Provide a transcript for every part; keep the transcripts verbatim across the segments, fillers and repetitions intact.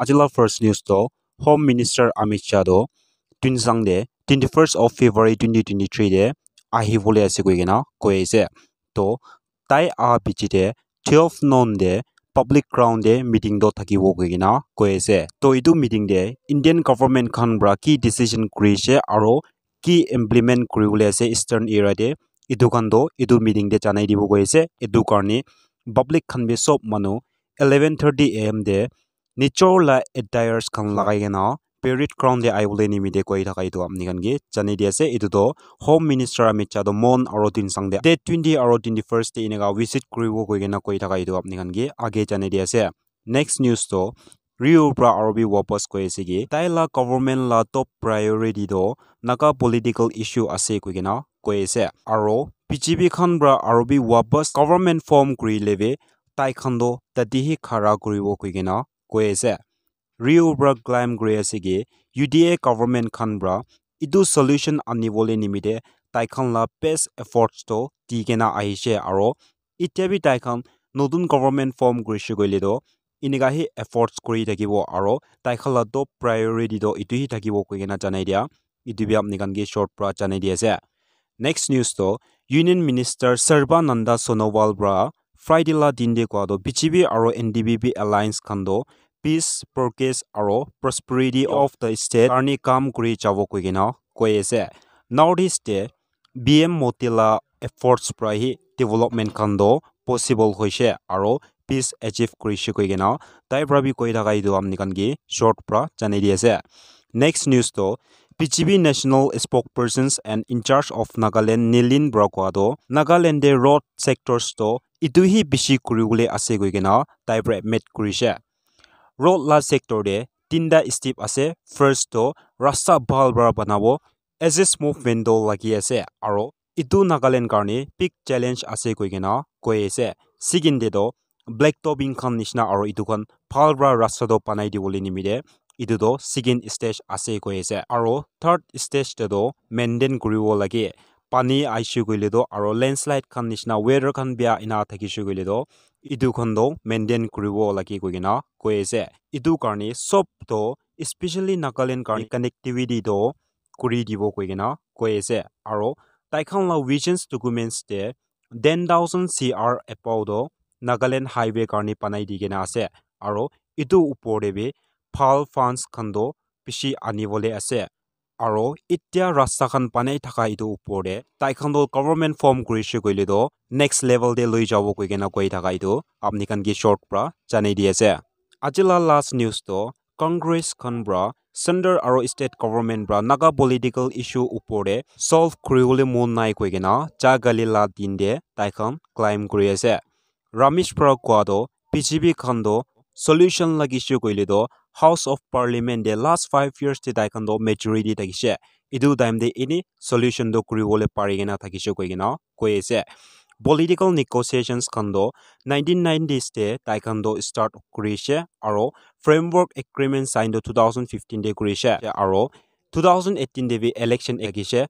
Ajila first news to Home Minister Amit Shah to Tuensang de twenty-first of February twenty twenty-three de ahibole ase koi kena koi ase. To tai aha piche de twelve noon de public ground de meeting to thakibo koi kena koi ase. To etu meeting de Indian government khan pra ki decision kuri ase aro ki implement kuribole ase Eastern area te, etu khan to etu meeting te janai dibo koi ase. Etu karne public khan bi sob manu eleven thirty a m te nijor la attires khan lagai kena parade ground te ahibole nimite koi thaka etu apni khan ke janai di ase. Etu to Home Minister Amit Shah to Mon aro Tuensang te date twenty aro twenty-first te eneka visit kuribo koi kena koi thaka etu apni khan ke age janai di ase. Next news to Rio pra aro bi wapas koi ase ki tai la government la top priority to Naga political issue ase koi kena koi ase. Aro B J P khan pra aro bi wapas government form kuri lebe tai khan to tate hi khara kuribo koi kena koi ase. Rio pra claim kuri ase ki U D A government khan pra etu solution anibole nimite tai khan la best efforts to di kena ahishe aro itya bi tai khan notun government form kurishe koile to eneka hi efforts kuri thakibo aro tai khan la top priority to etu hi thakibo koi kena janai dia. Etu bi apni khan ke short pra janai di ase. Next news to Union Minister Sarbananda Sonowal pra Friday la din de koa to B J P aro N D P P alliance khan to peace, progress aro prosperity of the state karni kam kuri jabo koi kena koi ase. North East te B M Modi la efforts pra hi development khan to possible hoishe aro peace achieve kurishe koi kena tai pra bi koi thaka etu apni khan ke short pra janai di ase. Next news to B J P national spokespersons and in charge of Nagaland Nilin pra koa to Nagaland de road sectors to etu hi bishi kuribole ase koi kena tai pra admit kurishe. Road la sector de tinta step ase. First to rasta bhal pra banabo, access movement to lagi ase aro etu Nagaland karne big challenge ase koi kena koi ase. Second de to black topping khan nishina aro etu khan bhal pra rasta to banai dibole nimite etu to second stage ase koi ase aro third stage de to maintain kuribo lage. Pani aishe koile to aro landslide khan nishina weather khan bia ena thakishe koile to etu khan to maintain kuribo lage koi kena koi ase. Etu karne sob to especially Nagaland karne connectivity to kuri dibo koi kena koi ase aro tai khan la visions documents te ten thousand C R above to Nagaland highway karne banai di kena ase aro etu upor te bi bhal funds khan to bishi anibole ase aro itya rasta khan banai thaka etu upor te tai khan to government form kurishe koile to next level te loi jabo koi kena koi thaka etu apni khan ke short pra janai di ase. Aji la last news to Congress khan pra center aro state government pra Naga political issue upor te solve kuribole mon nai koi kena jagali la din te tai khan claim kuri ase. Ramesh pra koa to B J P khan to solution lagishe koile to House of Parliament te last five years te tai khan to majority thakishe. Etu time te any solution to kuribole pari kena thakishe koi kena koi ase. Political negotiations khan to nineteen nineties te tai khan to start kurishe aro framework agreement sign to two thousand fifteen te kurishe aro two thousand eighteen te bi election ekishe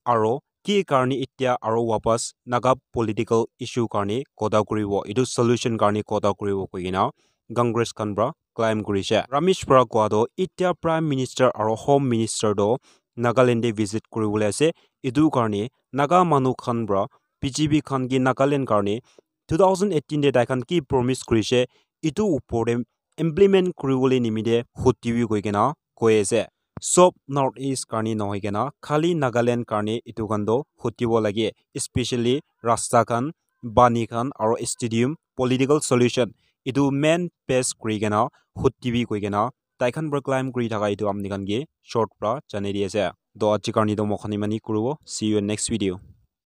aro ki karne itya aro wapas Naga political issue karne kotha kuribo, etu solution karne kotha kuribo koi kena Congress khan pra claim kurishe. Ramesh pra koa to itya Prime Minister aro Home Minister to Nagaland te visit kuribole ase. Etu karne Naga manu khan pra B J P khan ke Nagaland karne two thousand eighteen te tai khan ki promise kurishe etu upor te implement kuribole nimite hoti bi koi kena koi ase. Sob North East karne nohoi kena khali Nagaland karne etu khan to hotibo lage, especially rasta khan, pani khan aro stadium, political solution etu main base kuri kena hoti bi koi kena tai khan pra claim kuri thaka etu apni khan ke short pra janai di ase. To aji karne to moi khan imani kuribo. See you in next video.